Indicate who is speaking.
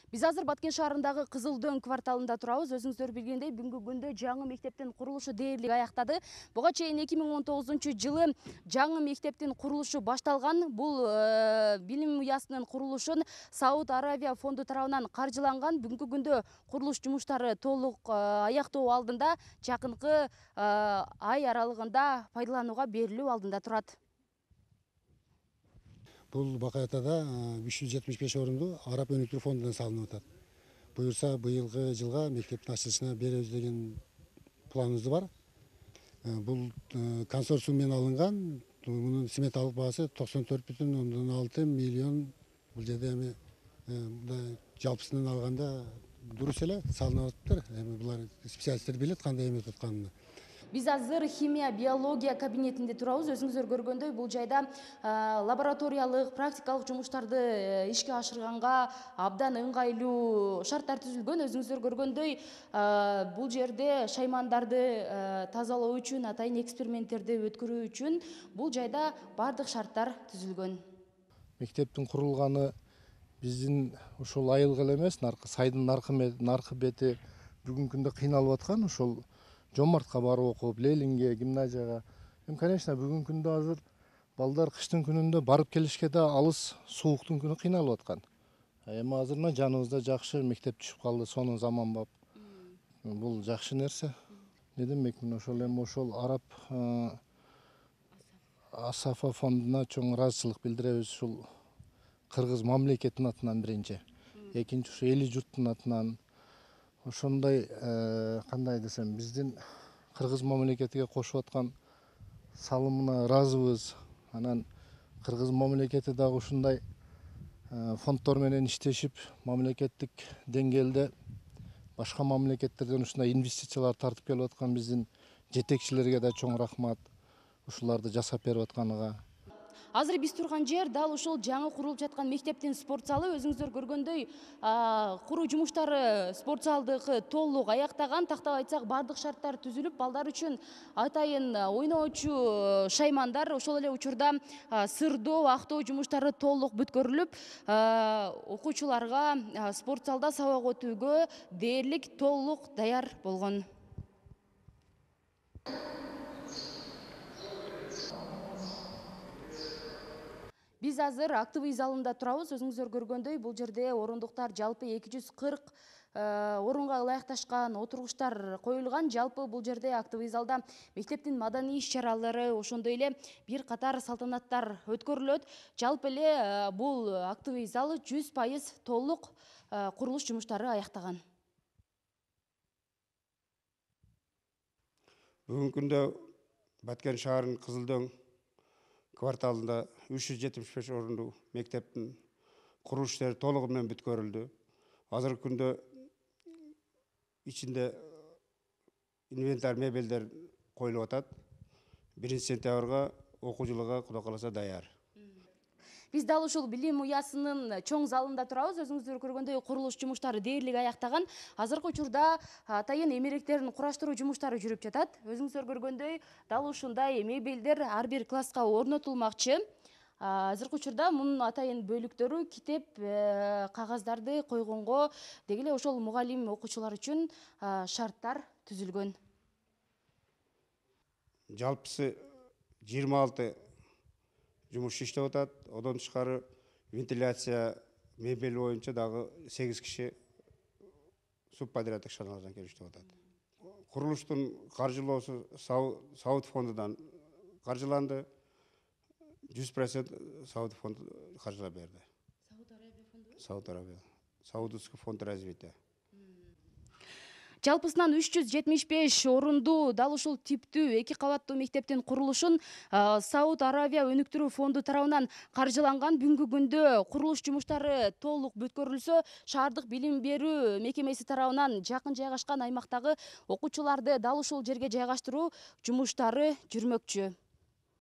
Speaker 1: Биз азыр Баткен шаарындагы Кызыл Дөң кварталында турабыз. Өзүңүздөр билгендей, бүгүнкү күндө жаңы мектептин курулушу дээрлик аяктады. Буга чейин 2019-жылы жаңы мектептин курулушу башталган. Бул билим уясынын курулушун Сауд Аравия фонду тарабынан каржыланган. Бүгүнкү күндө курулуш жумуштары толук аяктоо алдында, жакынкы ай аралыгында пайдаланууга берилүү алдында турат.
Speaker 2: Бул Бакаятада 375 орунду Араб өнүктүрүү фондунан салынып атат. Буюрса, быйылгы жылга мектептин ачылышына беребиз деген планыбыз бар. Бул консорциум менен алынган. Мунун сметалык баасы 94,6 миллион. Бул жерде эми жалпысынан алганда дурус эле салынып атыптыр. Эми булар специалисттер билет кандай эметип атканын.
Speaker 1: Биз азыр химия, биология кабинетинде турабыз. Өзүңүздөр көргөндөй, бул жайда лабораториялык, практикалык жумуштарды ишке ашырганга абдан ыңгайлуу шарттар түзүлгөн. Өзүңүздөр көргөндөй, бул жерде шаймандарды тазалоо үчүн, атайын эксперименттерди өткөрүү үчүн бул жайда бардык шарттар түзүлгөн.
Speaker 3: Мектептин курулганы биздин ушул айылга эле эмес, сайдын наркы бети бүгүнкү күндө кыйналып аткан. Ошол Жомартка барып окуп, Ленинге, гимназияга. Конечно, бүгүнкү күндө азыр балдар кыштын күнүндө барып келишке да алыс, сууктун күнү кыйналып аткан. Эми азыр мына жаныбызда жакшы мектеп түшүп калды, сонун заманбап. Бул жакшы нерсе. Не демекмин, ошол эми ошол Араб Асафа фондуна чоң ыраазычылык билдиребиз. Ушул кыргыз мамлекетинин атынан биринчи, экинчи ушу эли журттун атынан. Ошондой кандай десем, биздин кыргыз мамлекетиге кошуп аткан салымына ыраазыбыз. Анан кыргыз мамлекети дагы ушундай фонддор менен иштешип, мамлекеттик деңгээлде башка мамлекеттерден ушундай инвестициялар тартып келип аткан биздин жетекчилерге да чоң рахмат. Ушуларды жасап берип атканына.
Speaker 1: Азыр биз турган жер дал ушул жаңы курулуп жаткан мектептин спорт залы. Өзүңүздөр көргөндөй, куруу жумуштары спорт залдыкы толук аяктаган. Тактап айтсак, бардык шарттар түзүлүп, балдар үчүн атайын ойноочу шаймандар, ошол эле учурда сырдоо, актоо жумуштары толук бүткөрүлүп, окуучуларга спорт залда сабак өтүүгө дээрлик толук даяр болгон. Биз азыр актовый залында турабыз. Өзүңүздөр көргөндөй, бул жерде орундуктар жалпы 240 орунга ылайыкташкан, отургучтар коюлган. Жалпы бул жерде актовый залда мектептин маданий иш-чаралары, ошондой эле бир катар салтанаттар өткөрүлөт. Жалпы эле бул актовый зал 100% толук курулуш жумуштары аяктаган.
Speaker 4: Бүгүнкү күндө Баткен шаарынын Кызыл Дөң кварталында 375 орунду мектептин курулуш иштери толугу менен бүткөрүлдү. Азыркы күндө ичинде инвентарь мебелдер коюлуп атат. 1-сентябрга окуу жылыга Кудай кааласа даяр.
Speaker 1: Биз дал ушул билим уясынын чоң залында турабыз. Өзүңүздөр көргөндөй, курулуш жумуштары дээрлик аяктаган. Азыркы учурда атайын эмеректерин кураштыруу жумуштары жүрүп жатат. Өзүңүздөр көргөндөй, дал ушундай мебелдер ар бир класска орнотулмакчы. Азыркы учурда мунун атайын бөлүктөрү китеп, кагаздарды койгонго, деги эле ошол мугалим окуучулар үчүн шарттар түзүлгөн.
Speaker 4: Жалпысы 26 жумуш иштеп атат. Одон тышкары вентиляция, мебель боюнча дагы 8 киши субподрядчы ишканалардан келип иштеп атат. Курулуштун каржылоосу Сауд фондунан каржыланды. 100% Сауд фонду каржылап берди.
Speaker 1: Сауд Аравия фонду?
Speaker 4: Сауд Аравия. Саудовский фонд развития.
Speaker 1: Жалпысынан 375 орунду дал ушул типтүү 2 кабаттуу мектептин курулушун Сауд Аравия өнүктүрүү фонду тарабынан каржыланган. Бүгүнкү күндө курулуш жумуштары толук бүткөрүлсө, шаардык билим берүү мекемеси тарабынан жакын жайгашкан аймактагы окуучуларды дал ушул жерге жайгаштыруу жумуштары жүрмөкчү.